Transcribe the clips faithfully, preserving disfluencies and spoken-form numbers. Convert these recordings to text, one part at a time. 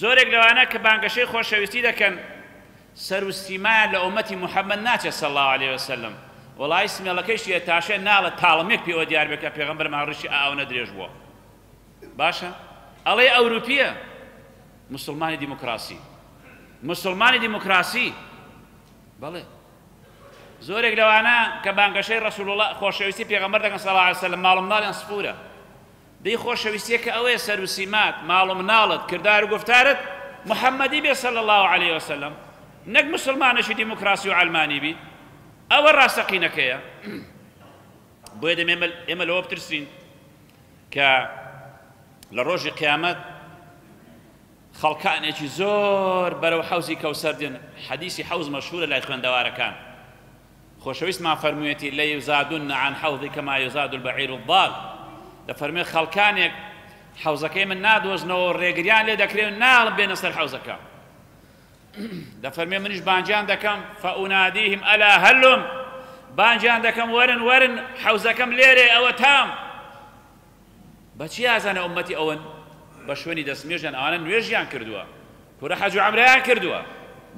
زۆرێک لەوانە کە بانگەشەی خۆشەویستی دەکەن سەر و سیمایان لە ئومەتی محەممەد ناچێت صلی الله علیه وسلم. وەڵای سمێڵەکەیشی تاشێ ناڵە تاڵمێک پێوە دیار بێ کە پێغەمبەرمان ڕیشی ئاونە درێژ بووە. باشە ئەڵێ ئەوروپیە، مسلمانی دیموکراسی، مسلمانی دیموکراسی. بەڵێ زۆرێک لەوانە کە بانگەشەی ڕەسوڵ الله خۆشەویستی پێغەمبەر دەکەن صلی الله علیه وسلم ماڵ و مناڵیان سفورە. دەی خۆشەویستیەکە ئەوەیە سەر و سیمات، ماڵ و مناڵت، کردار و گفتارت محەممەدی بێ صلی الله علیه وسلم، نەک مسلمانێکی دیموکراسی و عەلمانی بی. ئەوە ڕاستەقینەکەیە. بۆیە دەمێ ئێمە لەوە بترسین کە لە ڕۆژی قیامەت خەڵکانێکی زۆر بەرەو حەوزی کەوسەر دێن. حەدیسی حەوز مەشهورە لای خوێندەوارەکان. خۆشەویستمان فەرموویەتی لەیزادن عن حەوضی کەما یزاد البعیر الضال. دەفەرموێ خەڵکانێک حەوزەکەی من نادۆزنەوە ڕێگریان لێ دەکرێ و ناڵم بێنە سەر حەوزەکە. دەفەرمێ منیش بانگیان دەکەم فأناديهم ألا هلم، بانگیان دەکەم وەرن وەرن حەوزەکەم لێرێ ئەوە تام. بەچی ئازانە ئومەتی ئەوەن؟ بە شوێنی دەستنوێژیان ئەوانە نوێژیان کردووە، کورە حەج و عەمرەیان کردووە،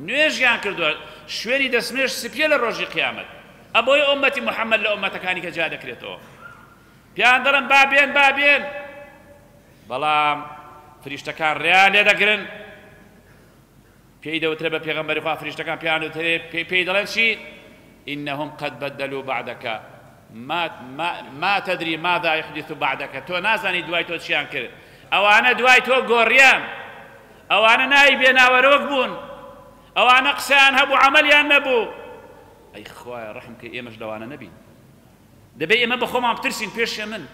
نوێژیان کردووە، شوێنی دەستنوێژ سپیە لە ڕۆژی قیامەت. ئەبۆی ئومەتی محەممەد لە ئومەتەکانی کە جیا دەکرێتەوە. پیان دەڵێن با بێن با بێن، بەڵام فریشتەکان ڕێیان لێ دەگرن. پێی دەوترێ بە پێغەمبەری خوا فریشتەکان پێیان دەوترێ پێی دەڵێن چی؟ إنهم قد بدلوا بعدك ما, ما, ما تدري ماذا يحدث بعدك. تۆ نازانی دوای تۆ چیان کرد. ئەوانە دوای تۆ گۆڕیان، ئەوانە ناوی بێناوەرۆک بوون، ئەوانە قسەیان هەبوو عەمەلیان نەبوو. ئەی خوایە ڕەحم کە ئێمەش لەوانە نەبین. دەبێ ئێمە بە خۆمان بترسین پێش من.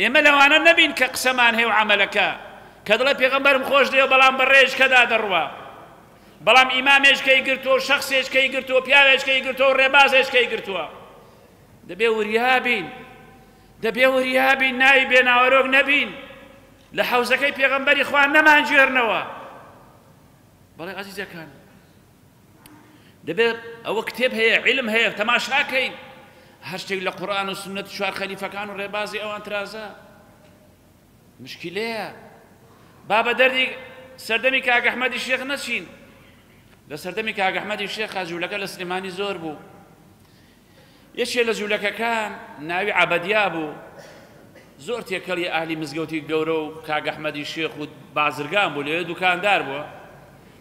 ئێمە لەوانە نەبین کە قسەمان هەیە و عەمەلەکە، کە دڵێ پێغەمبەرم خۆش دێ بەڵام بە ڕێژکەدا دەڕوا، بەڵام ئیمامێشکەی گرتووە و شەخسێشکەی گرتووە، پیاوێشکەی گرتووە و ڕێبازێشکەی گرتووە. دەبێ وریا بین، دەبێ وریا بین، ناوی بێناوەرۆک نەبین، لە حەوزەکەی پێغەمبەری خوا نەمانگێڕنەوە. بەڵێ عەزیزەکان، دەبێت ئەوە کتێب هەیە، عیلم هەیە، تەماشاکەین هەر شتێک لە قورئان و سوننەت چوار خەلیفەکان و ڕێبازی ئەوان ترازە. مشکلەیە. با بە دەردی سەردەمی کاک ئەحمەدی شێخ نەچین. لە سەردەمی کاک ئەحمەدی شێخ جوولەکە لە سلێمانی زۆر بوو. یەکێ لە جوولەکەکان ناوی عەبەدیا بوو، زۆر تێکەڵی ئەهلی مزگەوتی گەورە و کاک ئەحمەدی شێخ و بازرگان بوو، لەوێ دوکاندار بووە.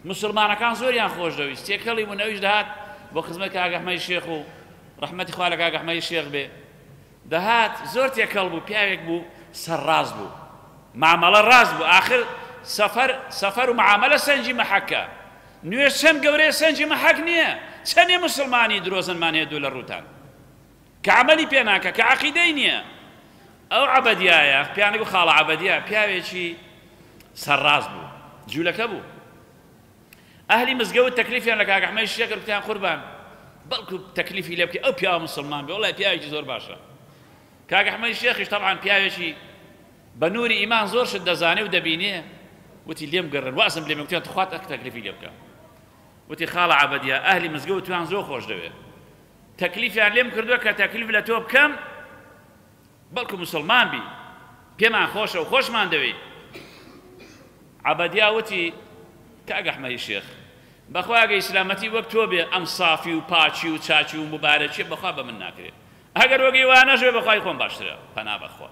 مسلمانەکان زۆریان خۆش دەویست، تێکەڵی بوو، ئەویش دەهات بۆ خزمەت کاک ئەحمەدی شێخ و ڕەحمەتی خوا لە کاک ئەحمەدی شێخ بێ. دەهات زۆر تێکەڵ بوو، پیاوێک بوو سەرڕاست بوو، معامەڵە ڕاست بوو. ئاخر سەفەر سەفەر و معامەلە سەنجی مەحەکە. نوێژ چەند گەورەیە سەنجی مەحەک نییە. چەندێ مسلمانی درۆزنمان هەیە دوو لە ڕووتان کە عەمەلی پێ ناکە، کە عەقیدەی نییە. ئەو عەبەدیایە پیانێک بوو خاڵە عەبەدیا، پیاوێکی سەرڕاست بوو، جوولەکە بوو. ئەهلی مزگەوت تەکلیفیان لە کاک ئەحمەدی شێخ کرد، گوتیان قوربان بەڵکو تەکلیفی لێ بکەی ئەو پیاوە مسلمان بێ، وەڵای پیاوێکی زۆر باشە. کاک ئەحمەدی شێخیش تەبعەن پیاوێکی بە نووری ئیمان زۆر شت دەزانێ و دەبینێ. وتی لێم گەڕن وازم لێم، گوتیان تخوات ئەک تەکلیفی لێ بکە. وتی خاڵە عەبەدیا ئەهلی مزگەوت تویان زۆر خۆش دەوێ، تەکلیفیان لێم کردووە کە تەکلیف لە تۆ بکەم بەڵکو مسلمان بی، پێمان خۆشە و خۆشمان دەوێ. عەبەدیا وتی کاک ئەحمەدی شێخ بەخوا ئەگە ئیسلامەتی وەک تۆ بێ ئەم سافی و پاچی و چاچی و مبارەکی بەخوا بە من ناکرێت، ئەگەر وەک ئیوانەش بێ بەخوای خۆم باشترە، پەنا بەخوا.